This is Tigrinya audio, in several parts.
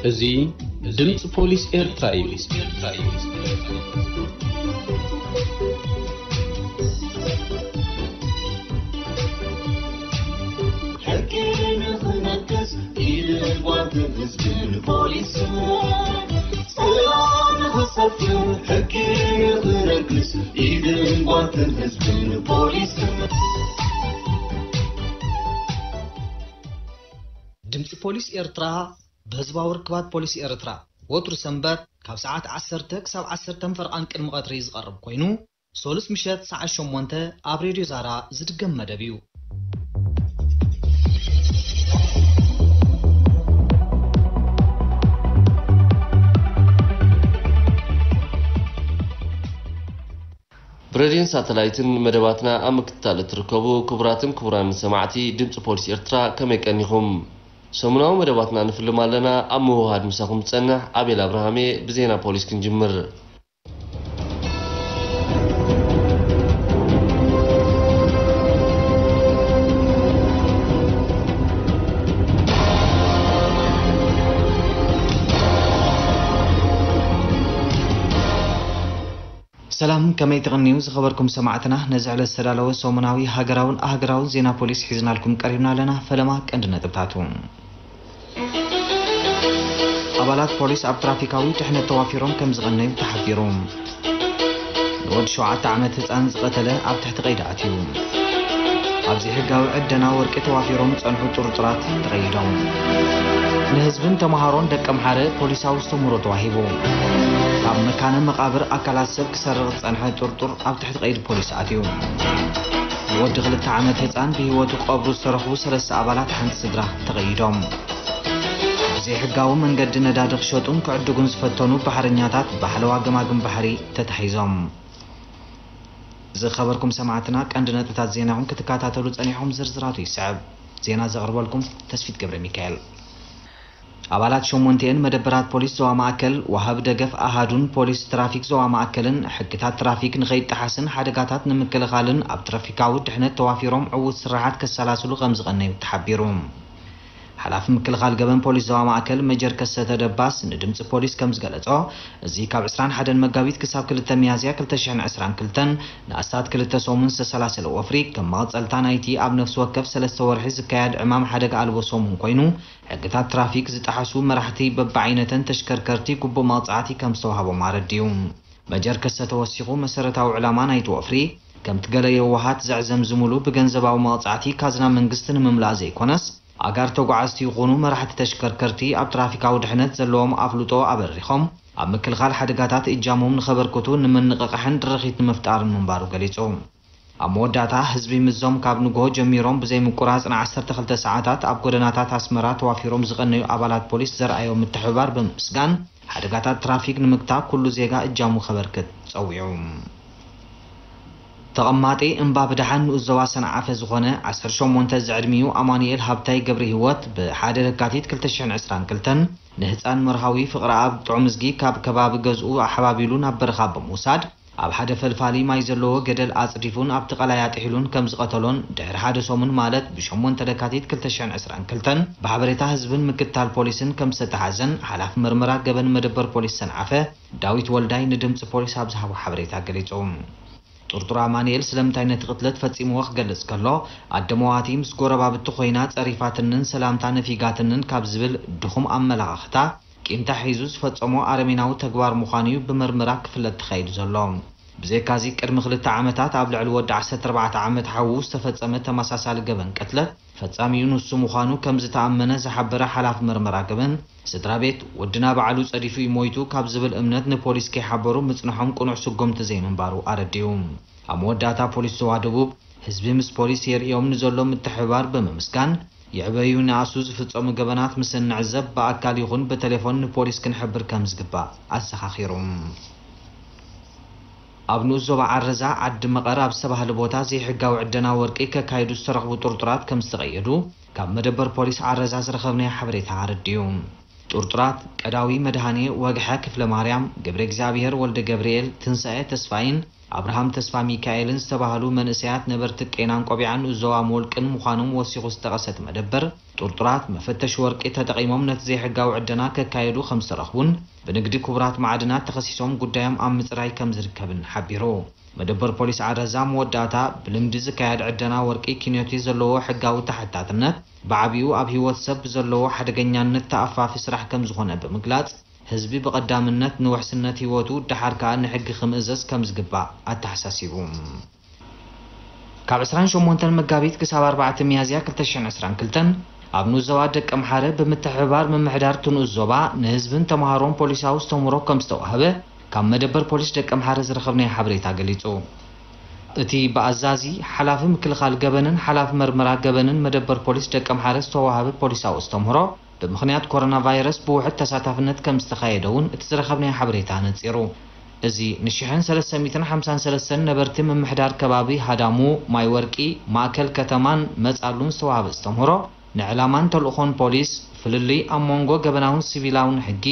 እዚ ድምፂ ፖሊስ ኤርትራ እዩ። ሕጊ ንኽነግስ ኢድን ጓንትን ህዝብን ፖሊስን፣ ሰላም ንኽሰፍን ሕጊ ንኽነግስ ኢድን ጓንትን ህዝብን ፖሊስን። ድምፂ ፖሊስ ኤርትራ ብህዝባዊ ርክባት ፖሊስ ኤርትራ ወትሩ ሰንበት ካብ ሰዓት ዓሰርተ ክሳብ ዓሰርተ ፈርቓን ቅድሚ ቀትሪ ዝቐርብ ኮይኑ፣ ሶሉስ ምሸት ሰዓት ሸሞንተ ኣብ ሬድዮ ዛራ ዝድገም መደብ እዩ። ብሬድዮን ሳተላይትን መደባትና ኣብ ምክትታል እትርከቡ ክቡራትን ክቡራን ሰማዕቲ ድምፂ ፖሊስ ኤርትራ፣ ከመይ ቀኒኹም? ሰሙናዊ መደባትና ንፍልም ኣለና። ኣብ ምውህሃድ ምሳኹም ዝጸንሕ ኣቤል ኣብርሃም እየ። ብዜና ፖሊስ ክንጅምር። ሰላም፣ ከመይ ትቕንዩ ዝኸበርኩም ሰማዕትና? ነዚ ዕለት ዝተዳለወ ሰሙናዊ ሃገራውን ኣህገራውን ዜና ፖሊስ ሒዝናልኩም ቀሪብና ኣለና። ፈለማ ቀንዲ ነጥብታቱ። ኣባላት ፖሊስ ኣብ ትራፊካዊ ድሕነት ተዋፊሮም ከም ዝቐነዩ ተሓቢሩ። ንወዲ ሸውዓተ ዓመት ህፃን ዝቐተለ ኣብ ትሕቲ ቀይዲ ኣትዩ። ኣብ ዘይሕጋዊ ዕደና ወርቂ ተዋፊሮም ዝጸንሑ ጥርጡራት ተቐይዶም። ንህዝብን ተምሃሮን ደቀምሓረ ፖሊሳዊ ዝተምህሮ ተዋሂቡ። ካብ መካነ መቓብር ኣካላት ሰብ ክሰርቕ ዝጸንሐ ጥርጡር ኣብ ትሕቲ ቀይዲ ፖሊስ ኣትዩ። ንወዲ ክልተ ዓመት ህጻን ብህይወቱ ክቐብሩ ዝተረኽቡ ሰለስተ ኣባላት ሓንቲ ስድራ ተቐይዶም። ብዘይሕጋዊ መንገዲ ነዳዲ ክሸጡን ክዕድጉን ዝፈተኑ ባሕረኛታት ብሓለዋ ገማግም ባሕሪ ተታሒዞም። ዝኸበርኩም ሰማዕትና፣ ቀንዲ ነጥብታት ዜናኹም ክትከታተሉ ጸኒሕኩም፣ ዝርዝራቱ ይስዕብ። ዜና ዘቕርበልኩም ተስፊት ገብረ ሚካኤል። ኣባላት ሸሞንተኤን መደበራት ፖሊስ ዞባ ማእከል፣ ወሃቢ ደገፍ ኣሃዱን ፖሊስ ትራፊክ ዞባ ማእከልን ሕግታት ትራፊክ ንኸይጠሓስን ሓደጋታት ንምክልኻልን ኣብ ትራፊካዊ ድሕነት ተዋፊሮም ዕዉት ስራሓት ከሰላስሉ ከም ዝቐነዩ ተሓቢሩ። ሓላፊ ምክልኻል ገበን ፖሊስ ዞባ ማእከል መጀር ከሰተ ደባስ ንድምፂ ፖሊስ ከም ዝገለጾ፣ እዚ ካብ ዕስራን ሓደን መጋቢት ክሳብ ክልተ ሚያዝያ ክልተ ሽሕን ዕስራን ክልተን ንኣስታት ክልተ ሰሙን ዝተሰላሰለ ወፍሪ፣ ከም መቐጸልታ ናይቲ ኣብ ነፍሲ ወከፍ ሰለስተ ወርሒ ዝካየድ ዕማም ሓደጋ ኣልቦ ሰሙን ኮይኑ፣ ሕግታት ትራፊክ ዝጠሓሱ መራሕቲ በብዓይነተን ተሽከርከርቲ ግቡእ መቕጻዕቲ ከም ዝተዋህቦም ኣረዲኡ። መጀር ከሰተ ወሲኹ፣ መሰረታዊ ዕላማ ናይቲ ወፍሪ፣ ከምቲ ገለ የዋሃት ዘዕዘምዝምሉ፣ ብገንዘባዊ መቕጻዕቲ ካዝና መንግስቲ ንምምላእ ዘይኮነስ፣ ኣጋር ተጓዓዝቲ ይኹኑ መራሕቲ ተሽከርከርቲ ኣብ ትራፊካዊ ድሕነት ዘለዎም ኣፍልጦ ኣበሪኾም ኣብ ምክልኻል ሓደጋታት እጃሞም ንኸበርክቱ ንምንቕቓሕን ድርኺት ንምፍጣርን ምንባሩ ገሊጹ። ኣብ መወዳእታ፣ ህዝቢ ምስዞም ካብ ንግሆ ጀሚሮም ብዘይምቁራጽ ንዓሰርተ ክልተ ሰዓታት ኣብ ጎደናታት ኣስመራ ተዋፊሮም ዝቐነዩ ኣባላት ፖሊስ ዘርኣዮ ምትሕብባር ብምምስጋን፣ ሓደጋታት ትራፊክ ንምግታእ ኩሉ ዜጋ እጃሙ ከበርክት ጸዊዑ። ተቐማጢ እምባ ብደሓን ንኡስ ዞባ ሰንዓፈ ዝኾነ ዓሰርተ ሸሞንተ ዝዕድሚኡ ኣማኑኤል ሃብታይ ገብረ ህይወት ብሓደ ለካቲት ክልተ ሽሕን ዕስራን ክልተን ንህፃን መርሃዊ ፍቕረኣብ ጥዑምዝጊ ካብ ከባቢ ገዝኡ ኣሓባቢሉ ናብ በረኻ ብምውሳድ፣ ኣብ ሓደ ፈልፋሊ ማይ ዘለዎ ገደል ኣፅዲፉን ኣብቲ ቀላይ ኣጥሒሉን ከም ዝቐተሎን፣ ድሕሪ ሓደ ሰሙን ማለት ብሸሞንተ ለካቲት ክልተ ሽሕን ዕስራን ክልተን ብሓበሬታ ህዝብን ምክትታል ፖሊስን ከም ዝተተሓዘን ሓላፊ መርመራ ገበን መደበር ፖሊስ ሰንዓፈ ዳዊት ወልዳይ ንድምፂ ፖሊስ ኣብ ዝሃቦ ሓበሬታ ገሊፁ። ጥርጡር ኣማኑኤል ስለምንታይ ነቲ ቅትለት ፈጺምዎ ክገልጽ ከሎ፣ ኣደ መዋቲ ምስ ጎረባብቲ ኮይና ጸሪፋትንን ሰላምታ ነፊጋትንን ካብ ዝብል ድኹም ኣመላኻኽታ፣ ቂምታ ሒዙ ዝፈጸሞ ኣረሜናዊ ተግባር ምዃኑ እዩ ብመርመራ ክፍለጥ ተኻይዱ ዘሎ። ብዘይካዚ፣ ቅድሚ ክልተ ዓመታት ኣብ ልዕሊ ወዲ ዓሰርተ ኣርባዕተ ዓመት ሓዉ ዝተፈጸመ ተመሳሳሊ ገበን ቅትለት፣ ፈጻሚኡ ንሱ ምዃኑ ከም ዝተኣመነ ዝሓበረ ሓላፊ መርመራ ገበን፣ ስድራ ቤት፣ "ወድና ባዕሉ ጸዲፉ እዩ ሞይቱ" ካብ ዝብል እምነት ንፖሊስ ከይሓበሩ ምጽንሖም ቅኑዕ ስጉምቲ ዘይምንባሩ ኣረዲኡ። ኣብ መወዳእታ፣ ፖሊስ ዞባ ደቡብ፣ ህዝቢ ምስ ፖሊስ የርእዮም ንዘሎ ምትሕብባር ብምምስጋን፣ ይዕበዩ ይንኣሱ ዝፍጸሙ ገበናት ምስ እንዕዘብ ብኣካል ይኹን ብቴሌፎን ንፖሊስ ክንሕብር ከም ዝግባእ ኣዘኻኺሩ። ኣብ ንኡስ ዞባ ዓረዛ ዓዲ መቐር ኣብ ዝተባህለ ቦታ ዘይሕጋዊ ዕደና ወርቂ ከካይዱ ዝተረኽቡ ጥርጡራት ከም ዝተቐየዱ ካብ መደበር ፖሊስ ዓረዛ ዝረኸብናዮ ሓበሬታ ኣረዲኡ። ጥርጡራት ቀዳዊ መድሃኔ ወግሐ ክፍለ ማርያም፣ ገብረ እግዚኣብሔር ወልደ ገብርኤል፣ ትንሳኤ ተስፋይን ኣብርሃም ተስፋ ሚካኤልን ዝተባህሉ መንእሰያት ነበርቲ ቄናን ቆቢዓን ንኡዞባ መወልቅን ምዃኖም ወሲኹ ዝጠቐሰ እቲ መደበር፣ ጥርጡራት መፈተሺ ወርቂ ተጠቒሞም ነቲ ዘይሕጋዊ ዕደና ከካየዱ ከም ዝተረኽቡን ብንግዲ ክቡራት ማዕድናት ተኸሲሶም ጉዳዮም ኣብ ምጽራይ ከም ዝርከብን ሓቢሩ። መደበር ፖሊስ ዓረዛ መወዳእታ፣ ብልምዲ ዝካየድ ዕደና ወርቂ ኪንዮቲ ዘለዎ ሕጋዊ ተሓታትነት ብዓቢኡ ኣብ ህይወት ሰብ ዘለዎ ሓደገኛነት ተኣፋፊ ስራሕ ከም ዝኾነ ብምግላጽ፣ ህዝቢ ብቐዳምነት ንውሕስነት ህይወቱ፣ ደሓር ከኣ ንሕጊ ክምእዘዝ ከም ዝግባእ ኣተሓሳሲቡ። ካብ ዕስራን ሸሞንተን መጋቢት ክሳብ ኣርባዕተ ሚያዝያ ክልተ ሽሕን ዕስራን ክልተን ኣብ ንኡስ ዞባ ደቀምሓረ ብምትሕብባር ምምሕዳር እቲ ንኡስ ዞባ ንህዝብን ተምሃሮን ፖሊሳዊ ዝተምህሮ ከም ዝተዋህበ ካብ መደበር ፖሊስ ደቀምሓረ ዝረኸብናዮ ሓበሬታ ገሊጹ። እቲ ብኣዛዚ ሓላፊ ምክልኻል ገበንን ሓላፊ መርመራ ገበንን መደበር ፖሊስ ደቀምሓረ ዝተዋህበ ፖሊሳዊ ዝተምህሮ፣ ብምኽንያት ኮሮና ቫይረስ ብውሑድ ተሳታፍነት ከም ዝተኻየደ እውን እቲ ዝረኸብናዮ ሓበሬታ ኣነጺሩ። እዚ ንሽሕን ሰለስተ ሚእትን ሓምሳን ሰለስተን ነበርቲ ምምሕዳር ከባቢ ሃዳሙ፣ ማይ ወርቂ፣ ማእከል ከተማን መጻሉን ዝተዋህበ ዝተምህሮ፣ ንዕላማን ተልእኾን ፖሊስ፣ ፍልልይ ኣብ መንጎ ገበናውን ሲቪላውን ሕጊ፣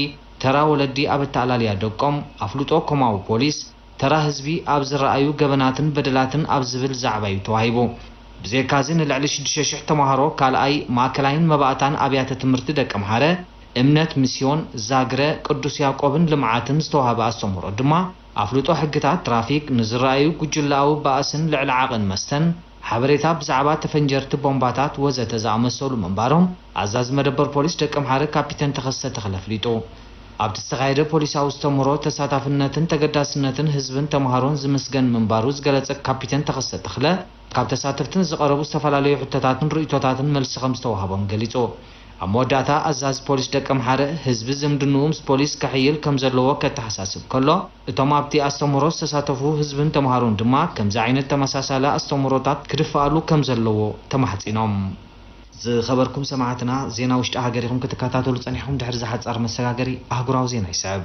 ተራ ወለዲ ኣብ ኣተኣላልያ ደቆም፣ ኣፍልጦ ኮማዊ ፖሊስ፣ ተራ ህዝቢ ኣብ ዝረኣዩ ገበናትን በደላትን ኣብ ዝብል ዛዕባ እዩ ተዋሂቡ። ብዘይካዚ ንልዕሊ ሽዱሽተ ሽሕ ተምሃሮ ካልኣይ ማእከላይን መባእታን ኣብያተ ትምህርቲ ደቀምሓረ፣ እምነት፣ ሚስዮን፣ ዛግረ፣ ቅዱስ ያዕቆብን ልምዓትን ዝተዋህበ ኣስተምህሮ ድማ ኣፍልጦ ሕግታት ትራፊክ፣ ንዝረኣዩ ጉጅለኣዊ ባእስን ልዕሊ ዓቕን መስተን፣ ሓበሬታ ብዛዕባ ተፈንጀርቲ ቦምባታት ወዘተ ዝኣመሰሉ ምንባሮም ኣዛዚ መደበር ፖሊስ ደቀምሓረ ካፒተን ተኸስተ ተኽለ ኣፍሊጡ። ኣብቲ ዝተኻየደ ፖሊሳዊ ኣስተምህሮ ተሳታፍነትን ተገዳስነትን ህዝብን ተምሃሮን ዝምስገን ምንባሩ ዝገለጸ ካፒተን ተኸስተ ተኽለ፣ ካብ ተሳተፍትን ዝቐረቡ ዝተፈላለዩ ሕቶታትን ርእይቶታትን መልሲ ከም ዝተዋህቦም ገሊጹ። ኣብ መወዳእታ ኣዛዚ ፖሊስ ደቀምሓረ ህዝቢ ዝምድንኡ ምስ ፖሊስ ከሕይል ከም ዘለዎ ከተሓሳስብ ከሎ፣ እቶም ኣብቲ ኣስተምህሮ ዝተሳተፉ ህዝብን ተምሃሮን ድማ ከምዚ ዓይነት ተመሳሳሊ ኣስተምህሮታት ክድፍኣሉ ከም ዘለዎ ተማሕጺኖም። ዝኸበርኩም ሰማዕትና፣ ዜና ውሽጢ ሃገር ኢኹም ክትከታተሉ ጸኒሕኩም። ድሕሪ ዝሓጻር መሰጋገሪ ኣህጉራዊ ዜና ይስዕብ።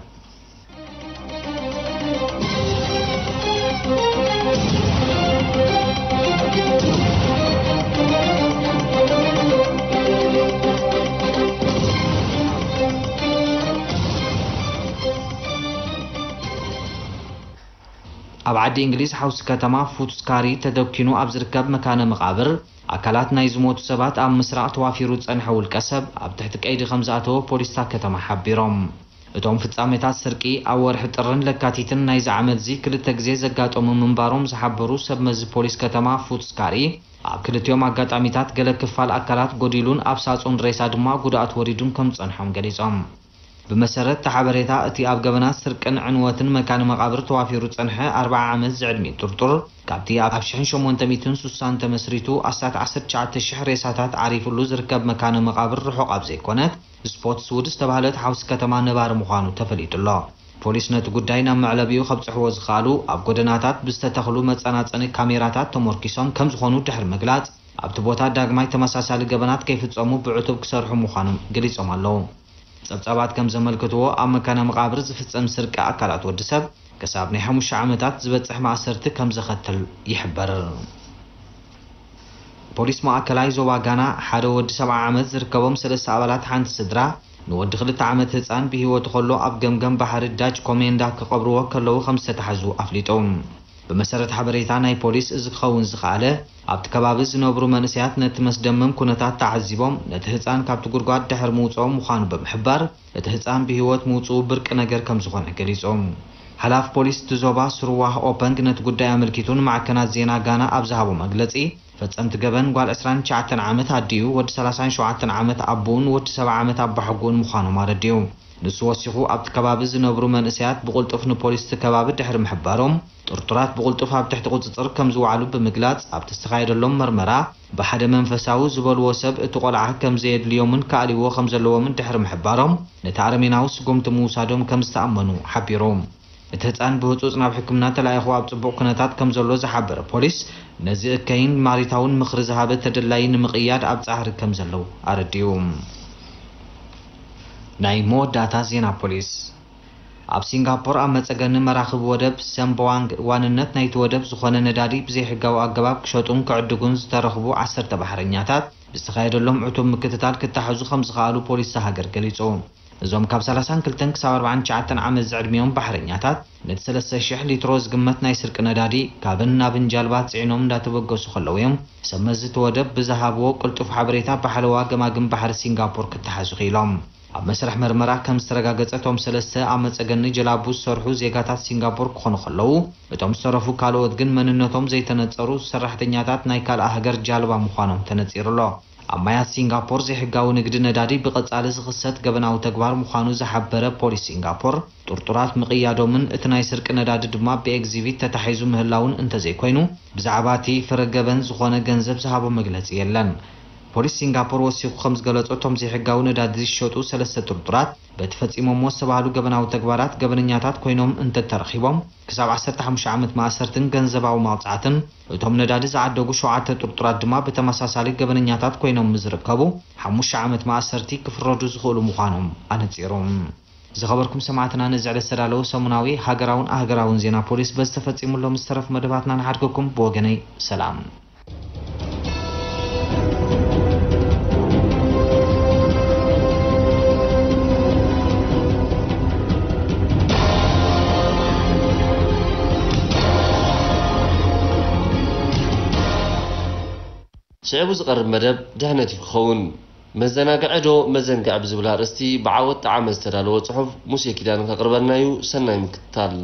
ኣብ ዓዲ እንግሊዝ ሓውሲ ከተማ ፉትስካሪ ተደኪኑ ኣብ ዝርከብ መካነ መቓብር ኣካላት ናይ ዝሞቱ ሰባት ኣብ ምስራቕ ተዋፊሩ ዝጸንሐ ውልቀ ሰብ ኣብ ትሕቲ ቀይዲ ከም ዝኣተወ ፖሊስ እታ ከተማ ሓቢሮም። እቶም ፍጻሜታት ስርቂ ኣብ ወርሒ ጥርን ለካቲትን ናይዚ ዓመት'ዚ ክልተ ግዜ ዘጋጠሙ ምንባሮም ዝሓበሩ ሰብ መዚ ፖሊስ ከተማ ፉትስካሪ፣ ኣብ ክልቲኦም ኣጋጣሚታት ገለ ክፋል ኣካላት ጎዲሉን ኣብ ሳጹን ሬሳ ድማ ጉድኣት ወሪዱን ከም ዝጸንሖም ገሊጾም። ብመሰረት እቲ ሓበሬታ፣ እቲ ኣብ ገበናት ስርቅን ዕንወትን መካነ መቓብር ተዋፊሩ ዝጸንሐ ኣርብዓ ዓመት ዝዕድሚኡ ጥርጡር፣ ካብቲ ኣብ ሽሕን ሸሞንተ ሚእትን ስሳን ተመስሪቱ ኣስታት ዓሰርተ ትሽዓተ ሽሕ ሬሳታት ዓሪፉሉ ዝርከብ መካነ መቓብር ርሑቕ ኣብ ዘይኮነት ስፖትስውድ ዝተባህለት ሓውሲ ከተማ ነባሪ ምዃኑ ተፈሊጡ ኣሎ። ፖሊስ ነቲ ጉዳይ ናብ መዕለቢኡ ከብጽሕዎ ዝኸኣሉ ኣብ ጎደናታት ብዝተተኽሉ መጸናጸኒ ካሜራታት ተሞርኪሶም ከም ዝኾኑ ድሕሪ ምግላጽ፣ ኣብቲ ቦታ ዳግማይ ተመሳሳሊ ገበናት ከይፍጸሙ ብዕቱብ ክሰርሑ ምዃኖም ገሊጾም ኣለዉ። ጸብጻባት ከም ዘመልክትዎ፣ ኣብ መካነ መቓብር ዝፍጸም ስርቂ ኣካላት ወዲ ሰብ ክሳብ ናይ ሓሙሽተ ዓመታት ዝበጽሕ ማእሰርቲ ከም ዘኸትል ይሕበር። ፖሊስ ማእከላይ ዞባ ጋና፣ ሓደ ወዲ ሰብዓ ዓመት ዝርከቦም ሰለስተ ኣባላት ሓንቲ ስድራ፣ ንወዲ ክልተ ዓመት ህጻን ብህይወቱ ከሎ ኣብ ገምገም ባሕሪ ዳች ኮሜንዳ ክቐብርዎ ከለዉ ከም ዝተታሕዙ ኣፍሊጡ። ብመሰረት ሓበሬታ ናይ ፖሊስ፣ እዚ ክኸውን ዝኸኣለ፣ ኣብቲ ከባቢ ዝነብሩ መንእሰያት ነቲ መስደመም ኩነታት ተዓዚቦም፣ ነቲ ህጻን ካብቲ ጉድጓድ ድሕሪ ምውጽኦም ምዃኑ ብምሕባር፣ እቲ ህጻን ብህይወት ምውጽኡ ብርቂ ነገር ከም ዝኾነ ገሊጹ። ሓላፊ ፖሊስ እቲ ዞባ ስሩዋህ ኦፐንግ ነቲ ጉዳይ ኣመልኪቱ ንማዕከናት ዜና ጋና ኣብ ዝሃቦ መግለጺ፣ ፈጸምቲ ገበን ጓል ዕስራን ትሽዓተን ዓመት ኣዲኡ፣ ወዲ ሰላሳን ሸውዓተን ዓመት ኣቦኡን ወዲ ሰብዓ ዓመት ኣባሓጎኡን ምዃኖም ኣረዲኡ። ንሱ ወሲኹ፣ ኣብቲ ከባቢ ዝነብሩ መንእሰያት ብቕልጡፍ ንፖሊስ እቲ ከባቢ ድሕሪ ምሕባሮም፣ ጥርጡራት ብቕልጡፍ ኣብ ትሕቲ ቁጽጽር ከም ዝወዓሉ ብምግላጽ፣ ኣብቲ ዝተኻየደሎም መርመራ፣ ብሓደ መንፈሳዊ ዝበልዎ ሰብ እቲ ቆልዓ ከም ዘየድልዮምን ክኣልይዎ ከም ዘለዎምን ድሕሪ ምሕባሮም፣ ነቲ ኣረሜናዊ ስጉምቲ ምውሳዶም ከም ዝተኣመኑ ሓቢሩ። እቲ ህጻን ብህጹጽ ናብ ሕክምና ተላኢኹ ኣብ ጽቡቕ ኩነታት ከም ዘሎ ዝሓበረ ፖሊስ፣ ነዚ እከይን ማሪታውን ምኽሪ ዝሃበ ተደላዪ ንምቕያድ ኣብ ጻዕሪ ከም ዘለዉ ኣረዲኡ። ናይ መወዳእታ ዜና ፖሊስ። ኣብ ሲንጋፖር ኣብ መጸገኒ መራኽብ ወደብ ሰምቦዋንግ ዋንነት ናይቲ ወደብ ዝኾነ ነዳዲ ብዘይሕጋዊ ኣገባብ ክሸጡን ክዕድጉን ዝተረኽቡ ዓሰርተ ባሕረኛታት ብዝተኻየደሎም ዕቱብ ምክትታል ክተሓዙ ከም ዝኸኣሉ ፖሊስ እታ ሃገር ገሊጹ። እዞም ካብ ሰላሳን ክልተን ክሳብ ኣርባዓን ትሽዓተን ዓመት ዝዕድሚኦም ባሕረኛታት፣ ነቲ ሰለስተ ሽሕ ሊትሮ ዝግመት ናይ ስርቂ ነዳዲ ካብን ናብን ጃልባ ጽዒኖም እንዳተበገሱ ከለዉ እዮም፣ ሰብ መዚ እቲ ወደብ ብዝሃብዎ ቅልጡፍ ሓበሬታ ብሓለዋ ገማግም ባሕሪ ሲንጋፖር ክተሓዙ ክኢሎም። ኣብ መስርሕ መርመራ ከም ዝተረጋገጸ፣ እቶም ሰለስተ ኣብ መጸገኒ ጀላቡ ዝሰርሑ ዜጋታት ሲንጋፖር ክኾኑ ከለዉ፣ እቶም ዝተረፉ ካልኦት ግን መንነቶም ዘይተነጸሩ ሰራሕተኛታት ናይ ካልኣ ሃገር ጃልባ ምዃኖም ተነጺሩ ኣሎ። ኣብ ማያት ሲንጋፖር ዘይሕጋዊ ንግዲ ነዳዲ ብቐጻሊ ዝኽሰት ገበናዊ ተግባር ምዃኑ ዝሓበረ ፖሊስ ሲንጋፖር፣ ጥርጡራት ምቕያዶምን እቲ ናይ ስርቂ ነዳዲ ድማ ብኤግዚቢት ተታሒዙ ምህላውን እንተዘይኮይኑ፣ ብዛዕባ እቲ ፍረ ገበን ዝኾነ ገንዘብ ዝሃቦ መግለጺ የለን። ፖሊስ ሲንጋፖር ወሲኹ ከም ዝገለጾ፣ እቶም ዘይሕጋዊ ነዳዲ ዝሸጡ ሰለስተ ጥርጡራት፣ በቲ ፈጺሞምዎ ዝተባህሉ ገበናዊ ተግባራት ገበነኛታት ኮይኖም እንተተረኺቦም፣ ክሳብ ዓሰርተ ሓሙሽተ ዓመት ማእሰርትን ገንዘባዊ መቕጻዕትን፣ እቶም ነዳዲ ዝዓደጉ ሸውዓተ ጥርጡራት ድማ ብተመሳሳሊ ገበነኛታት ኮይኖም ምስ ዝርከቡ፣ ሓሙሽተ ዓመት ማእሰርቲ ክፍረዱ ዝኽእሉ ምዃኖም ኣነጺሩ። ዝኸበርኩም ሰማዕትና፣ ነዚ ዕለት ዝተዳለወ ሰሙናዊ ሃገራውን ኣህገራውን ዜና ፖሊስ በዚ ተፈጺሙ ኣሎ። ምስ ተረፍ መደባትና ንሓድገኩም። ብወገነይ ሰላም። ሽዑ ዝቐርብ መደብ ድሕነት እዩ ክኸውን። መዘናግዒ ዶ መዘንግዒ ብዝብል ኣርእስቲ ብዓወት ጠዓመ ዝተዳለወ ጽሑፍ ሙሴ ኪዳነ ከቕርበልና እዩ። ሰናይ ምክትታል።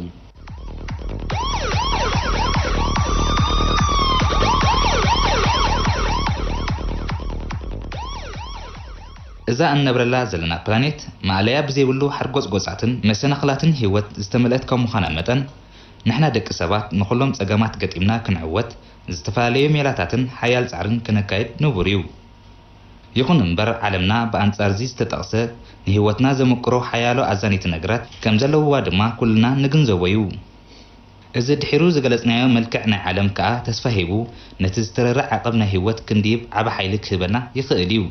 እዛ እንነብረላ ዘለና ፕላኔት ማእለያ ብዘይብሉ ሓርጎጽጎጻትን መሰናኽላትን ህይወት ዝተመልአት ከም ምዃና መጠን፣ ንሕና ደቂ ሰባት ንኹሎም ጸገማት ገጢምና ክንዕወት ዝተፈላለዩ ሜላታትን ሓያል ጻዕርን ክነካይድ ንቡር እዩ። ይኹን እምበር፣ ዓለምና ብኣንጻር እዚ ዝተጠቕሰ ንህይወትና ዘመቅሮ ሓያሎ ኣዛነይቲ ነገራት ከም ዘለውዋ ድማ ኩልና ንግንዘቦ እዩ። እዚ ድሒሩ ዝገለጽናዮ መልክዕ ናይ ዓለም ከኣ ተስፋ ሂቡ፣ ነቲ ዝተረረ ዓቐብ ናይ ህይወት ክንድይብ ዓቢ ሓይሊ ክህበና ይኽእል እዩ።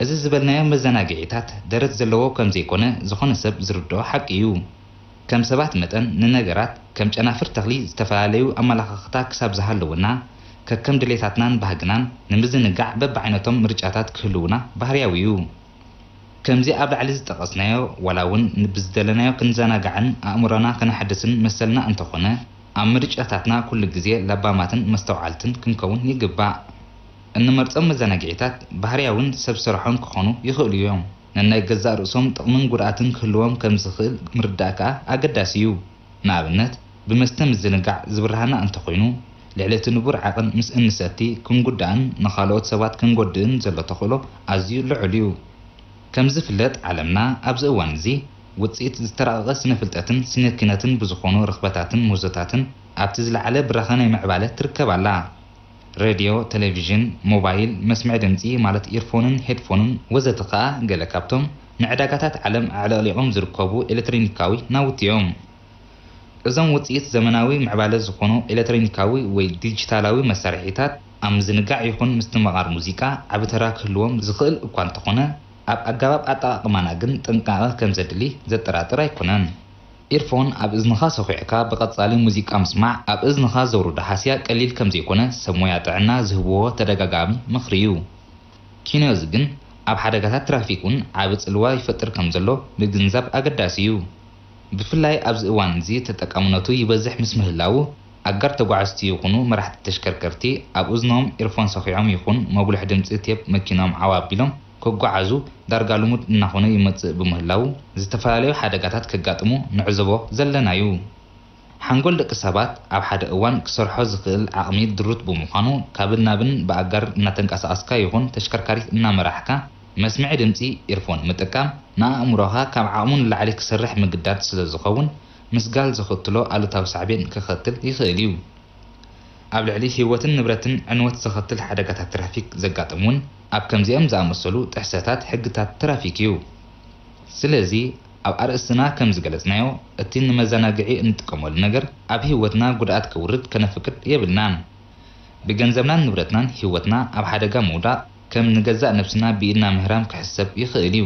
እዚ ዝበልናዮ መዘናግዒታት ደረት ዘለዎ ከም ዘይኮነ ዝኾነ ሰብ ዝርድኦ ሓቂ እዩ። ከም ሰባት መጠን ንነገራት ከም ጨናፍር ተኽሊ ዝተፈላለዩ ኣመለኻኽታ ክሳብ ዝሃለወና፣ ከከም ድሌታትናን ባህግናን ንምዝንጋዕ በብዓይነቶም ምርጫታት ክህልውና ባህርያዊ እዩ። ከምዚ ኣብ ላዕሊ ዝጠቐስናዮ፣ ዋላ እውን ብዝደለናዮ ክንዘናጋዕን ኣእምሮና ከነሐድስን መሰልና እንተኾነ፣ ኣብ ምርጫታትና ኩሉ ግዜ ለባማትን መስተውዓልትን ክንከውን ይግባእ። እንመርጾም መዘናግዒታት ባህርያውን ሰብ ስራሖን ክኾኑ ይኽእሉ እዮም። ነናይ ገዛእ ርእሶም ጥቕምን ጉድኣትን ክህልዎም ከም ዝኽእል ምርዳእ ከኣ ኣገዳሲ እዩ። ንኣብነት፣ ብመስተ ምዝንጋዕ ዝብርሃና እንተኾይኑ፣ ልዕሊ እቲ ንቡር ዓቕን ምስ እንሰቲ ክንጉዳእን ንኻልኦት ሰባት ክንጎድእን ዘሎ ተኽእሎ ኣዝዩ ልዑል እዩ። ከም ዝፍለጥ፣ ዓለምና ኣብዚ እዋን እዚ ውጽኢት ዝተራቐቐ ስነ-ፍልጠትን ስነ-ኪነትን ብዝኾኑ ርኽበታትን ምህዞታትን ኣብቲ ዝለዓለ ብራኸ ናይ ምዕባለ ትርከብ ኣላ። ሬድዮ፣ ቴሌቪዥን፣ ሞባይል፣ መስምዒ ድምጺ ማለት ኢርፎንን ሄድፎንን ወዘተ ከኣ ገለ ካብቶም ንዕዳጋታት ዓለም ኣዕለቕሊቖም ዝርከቡ ኤሌክትሮኒካዊ ናውቲ እዮም። እዞም ውጽኢት ዘመናዊ ምዕባለ ዝኾኑ ኤሌክትሮኒካዊ ወይ ዲጂታላዊ መሳርሒታት ኣብ ምዝንጋዕ ይኹን ምስትምቓር ሙዚቃ ዓቢ ተራ ክህልዎም ዝኽእል እኳ እንተኾነ፣ ኣብ ኣገባብ ኣጠቓቕማና ግን ጥንቃቐ ከም ዘድሊ ዘጠራጥር ኣይኮነን። ኢርፎን ኣብ እዝንኻ ሰኹዕካ ብቐጻሊ ሙዚቃ ምስማዕ፣ ኣብ እዝንኻ ዘውርዶ ሃስያ ቀሊል ከም ዘይኮነ ሰብ ሞያ ጥዕና ዝህብዎ ተደጋጋሚ ምኽሪ እዩ። ኪኖዚ ግን ኣብ ሓደጋታት ትራፊክ እውን ዓቢ ጽልዋ ይፈጥር ከም ዘሎ ምግንዛብ ኣገዳሲ እዩ። ብፍላይ ኣብዚ እዋን እዚ ተጠቃምነቱ ይበዝሕ ምስ ምህላዉ፣ ኣጋር ተጓዓዝቲ ይኹኑ መራሕቲ ተሽከርከርቲ ኣብ እዝኖም ኢርፎን ሰኺዖም ይኹን መጉልሒ ድምጺ ቴፕ መኪኖም ዓው ኣቢሎም ክጓዓዙ ዳርጋ ልሙድ እናኾነ ይመጽእ ብምህላዉ፣ ዝተፈላለዩ ሓደጋታት ከጋጥሙ ንዕዘቦ ዘለና እዩ። ሓንጎል ደቂ ሰባት ኣብ ሓደ እዋን ክሰርሖ ዝኽእል ዓቕሚ ድሩት ብምዃኑ፣ ካብን ናብን ብኣጋር እናተንቀሳቐስካ ይኹን ተሽከርካሪት እናመራሕካ መስምዒ ድምጺ ኢርፎን ምጥቃም፣ ንኣእምሮኻ ካብ ዓቕሙ ንላዕሊ ክሰርሕ ምግዳድ ስለ ዝኸውን፣ ምስጋል ዘኸትሎ ኣሉታዊ ሳዕቤን ከኸትል ይኽእል እዩ። ኣብ ልዕሊ ህይወትን ንብረትን ዕንወት ዘኸትል ሓደጋታት ትራፊክ ዘጋጥም እውን ኣብ ከምዚኦም ዝኣመሰሉ ጥሕሰታት ሕግታት ትራፊክ እዩ። ስለዚ፣ ኣብ ኣርእስትና ከም ዝገለጽናዮ፣ እቲ ንመዘናግዒ እንጥቀመሉ ነገር ኣብ ህይወትና ጉድኣት ከውርድ ከነፍቅድ የብልናን። ብገንዘብናን ንብረትናን ህይወትና ኣብ ሓደጋ ምውዳቕ፣ ከም ንገዛእ ነብስና ብኢድና ምህራም ክሕሰብ ይኽእል እዩ።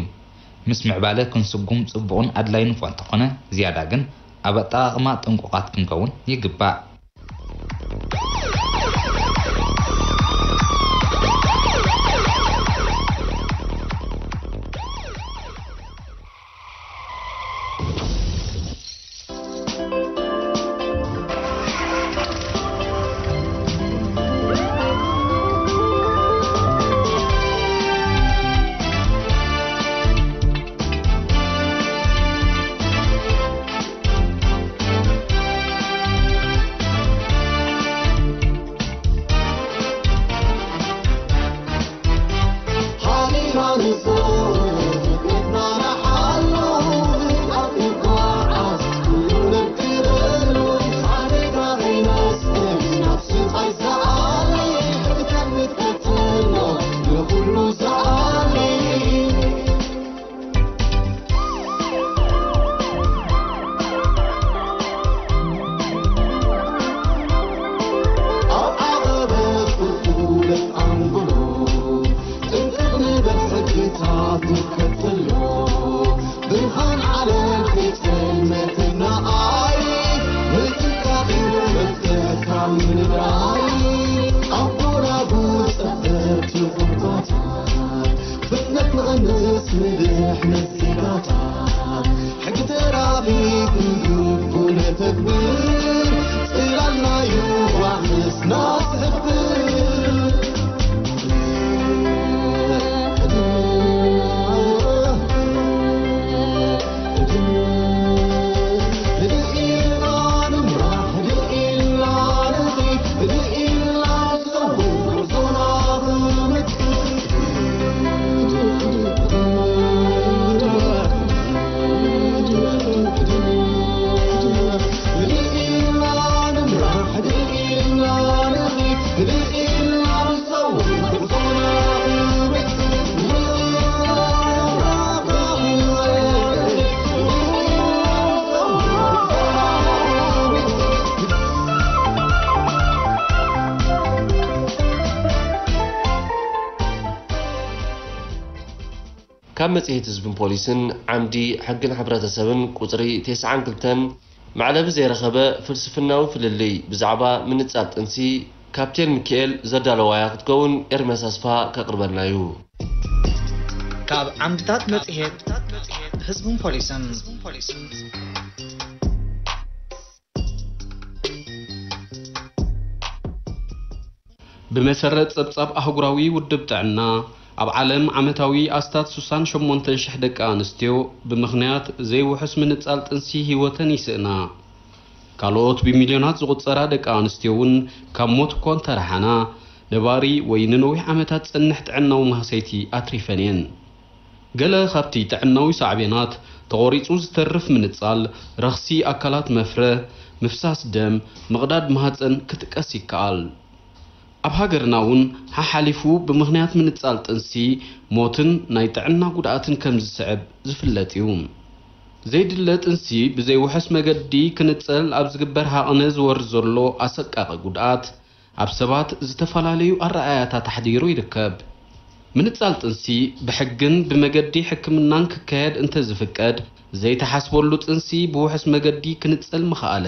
ምስ ምዕባለ ክንስጉም ጽቡቕን ኣድላይን እኳ እንተኾነ፣ ዝያዳ ግን ኣብ ኣጠቓቕማ ጥንቁቓት ክንከውን ይግባእ። ጽልመትና ኣይ ምትካኽ እዩ መፍትሕካ ምንራይ ኣቦና ብጸበብቲ ቁርባታት ፍጥነት ንቐንስ ንድሕነት ዜጋታት ሕጊ ተራፊ ክንግቡ ነተግብር ጽላልናዩ ዋሕስና ስሕብር ካብ መጽሔት ህዝብን ፖሊስን ዓምዲ ሕግን ሕብረተሰብን ቁጽሪ ተስዓን ክልተን መዕለቢ ዘይረኸበ ፍልስፍናዊ ፍልልይ ብዛዕባ ምንጻል ጥንሲ ካፕቴን ሚኪኤል ዘዳለዋያ ክትከውን ኤርምያስ ኣስፋ ከቕርበልና እዩ። ካብ ዓምድታት መጽሔት ህዝብን ፖሊስን ብመሰረት ጸብጻብ ኣህጉራዊ ውድብ ጥዕና፣ ኣብ ዓለም ዓመታዊ ኣስታት ስሳን ሸሞንተን ሽሕ ደቂ ኣንስትዮ ብምኽንያት ዘይውሑስ ምንጻል ጥንሲ ህይወተን ይስእና። ካልኦት ብሚልዮናት ዝቑጸራ ደቂ ኣንስትዮ እውን ካብ ሞት እኳ እንተረሓና፣ ነባሪ ወይ ንነዊሕ ዓመታት ዝጸንሕ ጥዕናዊ ማህሰይቲ ኣትሪፈን እየን። ገለ ካብቲ ጥዕናዊ ሳዕቤናት፣ ተቖሪጹ ዝተርፍ ምንጻል፣ ረኽሲ ኣካላት መፍረ፣ ምፍሳስ ደም፣ ምቕዳድ ማህጸን ክጥቀስ ይከኣል። ኣብ ሃገርና እውን ሓሓሊፉ ብምኽንያት ምንጻል ጥንሲ ሞትን ናይ ጥዕና ጉድኣትን ከም ዝስዕብ ዝፍለጥ እዩ። ዘይድለ ጥንሲ ብዘይውሑስ መገዲ ክንጸል ኣብ ዝግበር ሃቕነ ዝወርድ ዘሎ ኣሰቃቒ ጉድኣት፣ ኣብ ሰባት ዝተፈላለዩ ኣረኣእያታት ኣሕዲሩ ይርከብ። ምንጻል ጥንሲ ብሕግን ብመገዲ ሕክምናን ክካየድ እንተዝፍቀድ፣ ዘይተሓስበሉ ጥንሲ ብውሑስ መገዲ ክንጸል ምኸኣለ፣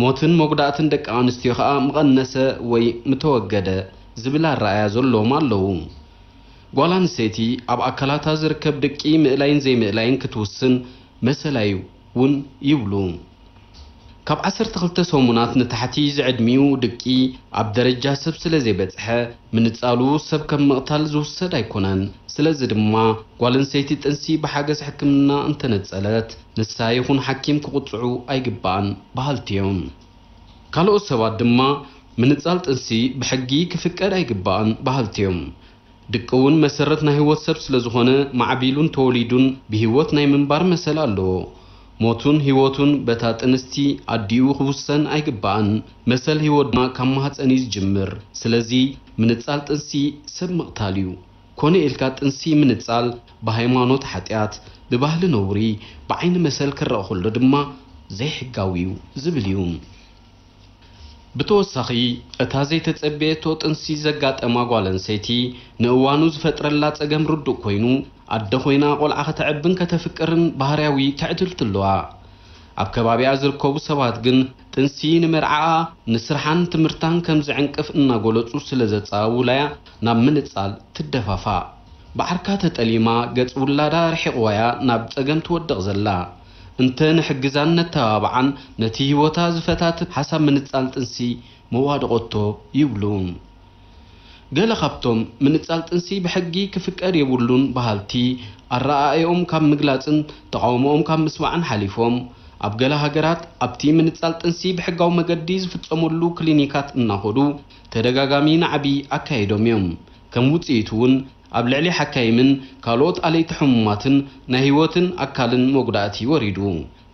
ሞትን መጉዳእትን ደቂ ኣንስትዮ ከኣ ምቐነሰ ወይ ምተወገደ ዝብል ኣረኣእያ ዘለዎም ኣለዉ። ጓል ኣንስተይቲ ኣብ ኣካላታ ዝርከብ ድቂ ምእላይን ዘይምእላይን ክትውስን መሰላ'ዩ እውን ይብሉ። ካብ ዓሰርተ ክልተ ሰሙናት ንታሕቲ ዝዕድሚኡ ድቂ ኣብ ደረጃ ሰብ ስለ ዘይበጽሐ፣ ምንጻሉ ሰብ ከም ምቕታል ዝውሰድ ኣይኮነን። ስለዚ ድማ፣ ጓል ኣንስተይቲ ጥንሲ ብሓገዝ ሕክምና እንተነጸለት፣ ንሳ ይኹን ሓኪም ክቕጽዑ ኣይግባእን በሃልቲ እዮም። ካልኦት ሰባት ድማ፣ ምንጻል ጥንሲ ብሕጊ ክፍቀድ ኣይግባእን በሃልቲ እዮም። ድቂ እውን መሰረት ናይ ህይወት ሰብ ስለ ዝኾነ፣ ማዕቢሉን ተወሊዱን ብህይወት ናይ ምንባር መሰል ኣለዎ። ሞቱን ህይወቱን በታ ጥንስቲ ኣዲኡ ክውሰን ኣይግባእን። መሰል ህይወት ድማ ካብ ማህጸን እዩ ዝጅምር። ስለዚ ምንጻል ጥንሲ ሰብ ምቕታል እዩ። ኮነ ኢልካ ጥንሲ ምንጻል ብሃይማኖት ሓጢኣት፣ ብባህሊ ነውሪ፣ ብዓይኒ መሰል ክረኣ ከሎ ድማ ዘይሕጋዊ እዩ ዝብል እዩ። ብተወሳኺ፣ እታ ዘይተጸበየቶ ጥንሲ ዘጋጠማ ጓል ኣንስተይቲ፣ ንእዋኑ ዝፈጥረላ ጸገም ርዱእ ኮይኑ፣ ኣደ ኮይና ቆልዓ ከተዕብን ከተፍቅርን ባህርያዊ ትዕድልቲ ኣለዋ። ኣብ ከባቢኣ ዝርከቡ ሰባት ግን፣ ጥንሲ ንመርዓኣ፣ ንስርሓን ትምህርታን ከም ዝዕንቅፍ እናገለጹ ስለ ዘጻውላያ፣ ናብ ምንጻል ትደፋፋእ። ብዓርካ ተጠሊማ፣ ገጽ ውላዳ ርሒቕዋ'ያ ናብ ጸገም ትወድቕ ዘላ። እንተ ንሕግዛን ነተባብዓን፣ ነቲ ህይወታ ዝፈታትት ሓሳብ ምንጻል ጥንሲ መዋድቖቶ ይብሉ። ገለ ካብቶም ምንጻል ጥንሲ ብሕጊ ክፍቀድ የብሉን በሃልቲ፣ ኣረኣእያኦም ካብ ምግላጽን ተቓውሞኦም ካብ ምስማዕን ሓሊፎም፣ ኣብ ገለ ሃገራት ኣብቲ ምንጻል ጥንሲ ብሕጋዊ መገዲ ዝፍጸመሉ ክሊኒካት እናኸዱ ተደጋጋሚ ናዕቢ ኣካይዶም እዮም። ከም ውጽኢቱ እውን ኣብ ልዕሊ ሓካይምን ካልኦት ኣለይቲ ሕሙማትን ናይ ህይወትን ኣካልን መጉዳእቲ ወሪዱ፣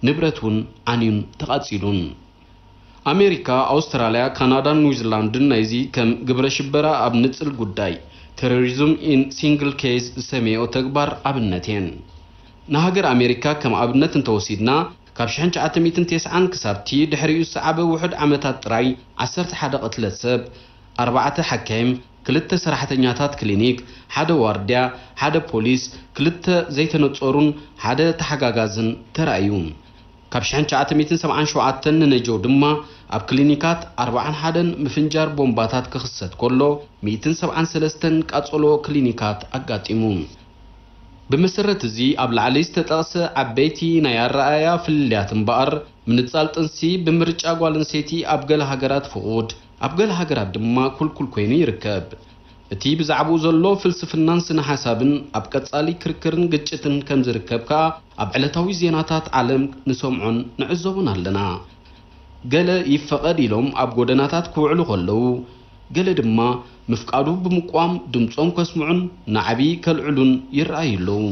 ንብረት እውን ዓንዩን ተቓጺሉን። ኣሜሪካ፣ ኣውስትራልያ፣ ካናዳን ኒውዚላንድን ናይዚ ከም ግብረ ሽበራ ኣብ ንጽል ጉዳይ፣ Terrorism in Single Case፣ ዝሰመየኦ ተግባር ኣብነት እየን። ንሃገር ኣሜሪካ ከም ኣብነት እንተወሲድና፣ ካብ ሽሕን ትሽዓተ ሚእትን ተስዓን ክሳብቲ ድሕሪኡ ዝሰዓበ ውሑድ ዓመታት ጥራይ ዓሰርተ ሓደ ቅትለት ሰብ፣ ኣርባዕተ ሓካይም፣ ክልተ ሰራሕተኛታት ክሊኒክ፣ ሓደ ዋርድያ፣ ሓደ ፖሊስ፣ ክልተ ዘይተነጸሩን ሓደ ተሓጋጋዝን ተራእዩ። ካብ ሽሕን ትሽዓተ ሚእትን ሰብዓን ሸውዓተን ንነጀው ድማ ኣብ ክሊኒካት ኣርብዓን ሓደን ምፍንጃር ቦምባታት ክኽሰት ከሎ፣ ሚእትን ሰብዓን ሰለስተን ቃጸሎ ክሊኒካት ኣጋጢሙ። ብመሰረት እዚ ኣብ ላዕሊ ዝተጠቕሰ ዓበይቲ ናይ ኣረኣእያ ፍልልያት እምበኣር፣ ምንጻል ጥንሲ ብምርጫ ጓል ኣንስተይቲ ኣብ ገለ ሃገራት ፍቑድ፣ ኣብ ገለ ሃገራት ድማ ክልኩል ኮይኑ ይርከብ። እቲ ብዛዕባኡ ዘሎ ፍልስፍናን ስነ ሓሳብን ኣብ ቀጻሊ ክርክርን ግጭትን ከም ዝርከብ ከኣ ኣብ ዕለታዊ ዜናታት ዓለም ንሰምዖን ንዕዘቦን ኣለና። ገለ ይፈቐድ ኢሎም ኣብ ጎደናታት ክውዕሉ ከለዉ፣ ገለ ድማ ምፍቃዱ ብምቋም ድምጾም ከስምዑን ናዕቢ ከልዕሉን ይረኣዩ ኣለዉ።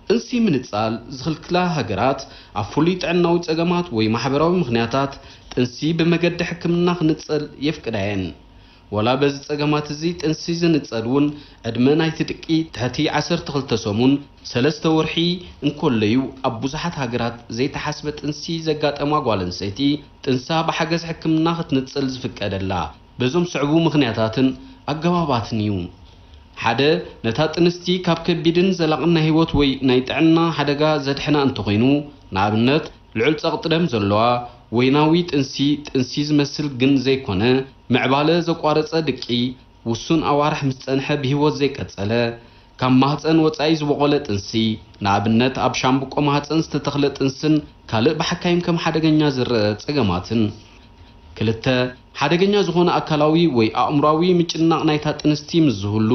ጥንሲ ምንጻል ዝኽልክላ ሃገራት ኣብ ፍሉይ ጥዕናዊ ጸገማት ወይ ማሕበራዊ ምኽንያታት ጥንሲ ብመገዲ ሕክምና ክንጸል የፍቅዳ እየን። ወላ በዚ ጸገማት እዚ ጥንሲ ዝንጸል እውን ዕድመ ናይቲ ድቂ ትሕቲ ዓሰርተ ክልተ ሰሙን፣ ሰለስተ ወርሒ፣ እንከሎ'ዩ ኣብ ብዙሓት ሃገራት ዘይተሓስበ ጥንሲ ዘጋጠማ ጓል ኣንስተይቲ ጥንሳ ብሓገዝ ሕክምና ክትንጽል ዝፍቀደላ። በዞም ስዕቡ ምኽንያታትን ኣገባባትን እዩ። ሓደ፣ ነታ ጥንስቲ ካብ ከቢድን ዘላቕን ናይ ህይወት ወይ ናይ ጥዕና ሓደጋ ዘድሕና እንተኾይኑ፣ ንኣብነት፣ ልዑል ጸቕጢ ደም ዘለዋ፣ ወይናዊ ጥንሲ፣ ጥንሲ ዝመስል ግን ዘይኮነ፣ ምዕባለ ዘቋረጸ ድቂ፣ ውሱን ኣዋርሕ ምስ ጸንሐ ብህይወት ዘይቀጸለ፣ ካብ ማህጸን ወጻኢ ዝበቖለ ጥንሲ፣ ንኣብነት፣ ኣብ ሻምብቆ ማህጸን ዝተተኽለ ጥንስን ካልእ ብሓካይም ከም ሓደገኛ ዝረአ ጸገማትን። ክልተ፣ ሓደገኛ ዝኾነ ኣካላዊ ወይ ኣእምሮኣዊ ምጭናቕ ናይታ ጥንስቲ ምስ ዝህሉ፣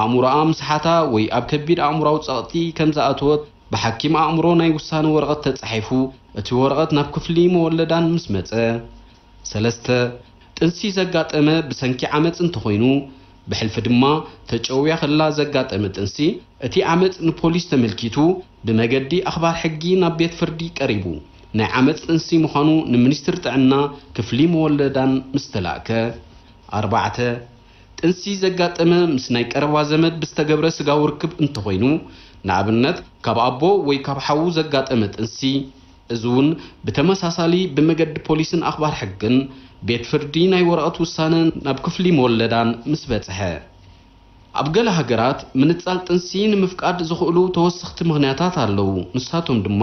ኣእምሮኣ ምስሓታ ወይ ኣብ ከቢድ ኣእምሮኣዊ ጸቕጢ ከም ዝኣተወት ብሓኪም ኣእምሮ ናይ ውሳነ ወረቐት ተጻሒፉ፣ እቲ ወረቐት ናብ ክፍሊ መወለዳን ምስ መጸ። ሰለስተ፣ ጥንሲ ዘጋጠመ ብሰንኪ ዓመጽ እንተኾይኑ፣ ብሕልፊ ድማ ተጨውያ ከላ ዘጋጠመ ጥንሲ፣ እቲ ዓመጽ ንፖሊስ ተመልኪቱ ብመገዲ ኣኽባር ሕጊ ናብ ቤት ፍርዲ ቀሪቡ ናይ ዓመጽ ጥንሲ ምዃኑ ንሚኒስትሪ ጥዕና ክፍሊ መወለዳን ምስ ተላእከ። ኣርባዕተ፣ ጥንሲ ዘጋጠመ ምስ ናይ ቀረባ ዘመድ ብዝተገብረ ስጋዊ ርክብ እንተኾይኑ፣ ንኣብነት ካብ ኣቦ ወይ ካብ ሓዉ ዘጋጠመ ጥንሲ፣ እዚ እውን ብተመሳሳሊ ብመገዲ ፖሊስን ኣኽባር ሕግን ቤት ፍርዲ ናይ ወረቐት ውሳነ ናብ ክፍሊ መወለዳን ምስ በጽሐ። ኣብ ገለ ሃገራት ምንጻል ጥንሲ ንምፍቃድ ዝኽእሉ ተወሰኽቲ ምኽንያታት ኣለዉ። ንሳቶም ድማ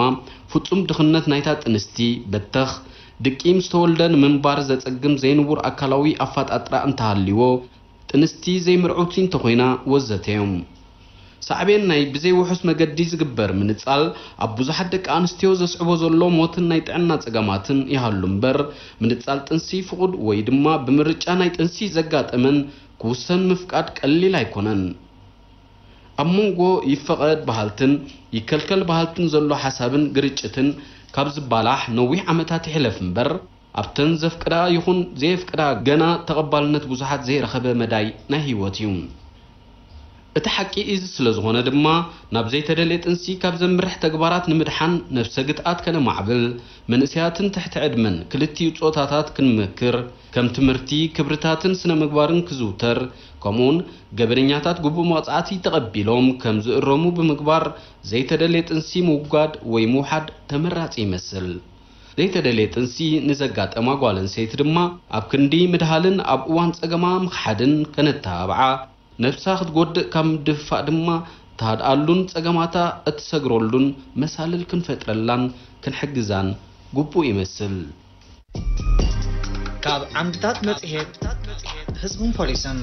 ፍጹም ድኽነት ናይታ ጥንስቲ፣ በተኽ፣ ድቂ ምስ ተወልደ ንምንባር ዘጸግም ዘይንቡር ኣካላዊ ኣፈጣጥራ እንተሃልይዎ፣ ጥንስቲ ዘይምርዕውቲ እንተኾይና ወዘተ እዮም። ሳዕቤን ናይ ብዘይውሑስ መገዲ ዝግበር ምንጻል ኣብ ብዙሓት ደቂ ኣንስትዮ ዘስዕቦ ዘሎ ሞትን ናይ ጥዕና ጸገማትን ይሃሉ እምበር፣ ምንጻል ጥንሲ ፍቑድ ወይ ድማ ብምርጫ ናይ ጥንሲ ዘጋጠመን ክውሰን ምፍቃድ ቀሊል ኣይኮነን። ኣብ መንጎ ይፈቐድ በሃልትን ይከልከል በሃልትን ዘሎ ሓሳብን ግርጭትን ካብ ዝባላሕ ነዊሕ ዓመታት ይሕለፍ እምበር፣ ኣብተን ዘፍቅዳ ይኹን ዘየፍቅዳ ገና ተቐባልነት ብዙሓት ዘይረኸበ መዳይ ናይ ህይወት እዩ። እቲ ሓቂ እዚ ስለ ዝኾነ ድማ፣ ናብ ዘይተደልየ ጥንሲ ካብ ዘምርሕ ተግባራት ንምድሓን ነብሰ ግትኣት ከነማዕብል፣ መንእሰያትን ትሕቲ ዕድመን ክልቲኡ ጾታታት ክንመክር፣ ከም ትምህርቲ፣ ክብርታትን ስነ ምግባርን ክዝውተር፣ ከምኡውን ገበነኛታት ግቡእ መቕጻዕቲ ተቐቢሎም ከም ዝእረሙ ብምግባር ዘይተደልየ ጥንሲ ምውጋድ ወይ ምውሓድ ተመራጺ ይመስል። ዘይተደልየ ጥንሲ ንዘጋጠማ ጓል ኣንስተይቲ ድማ ኣብ ክንዲ ምድሃልን ኣብ እዋን ጸገማ ምኽሓድን ከነተባብዓ፣ ነብሳ ክትጎድእ ካብ ምድፍፋእ ድማ ትሃድኣሉን ጸገማታ እትሰግረሉን መሳልል ክንፈጥረላን ክንሕግዛን ግቡእ ይመስል። ካብ ዓምድታት መጽሔት ህዝብን ፖሊስን።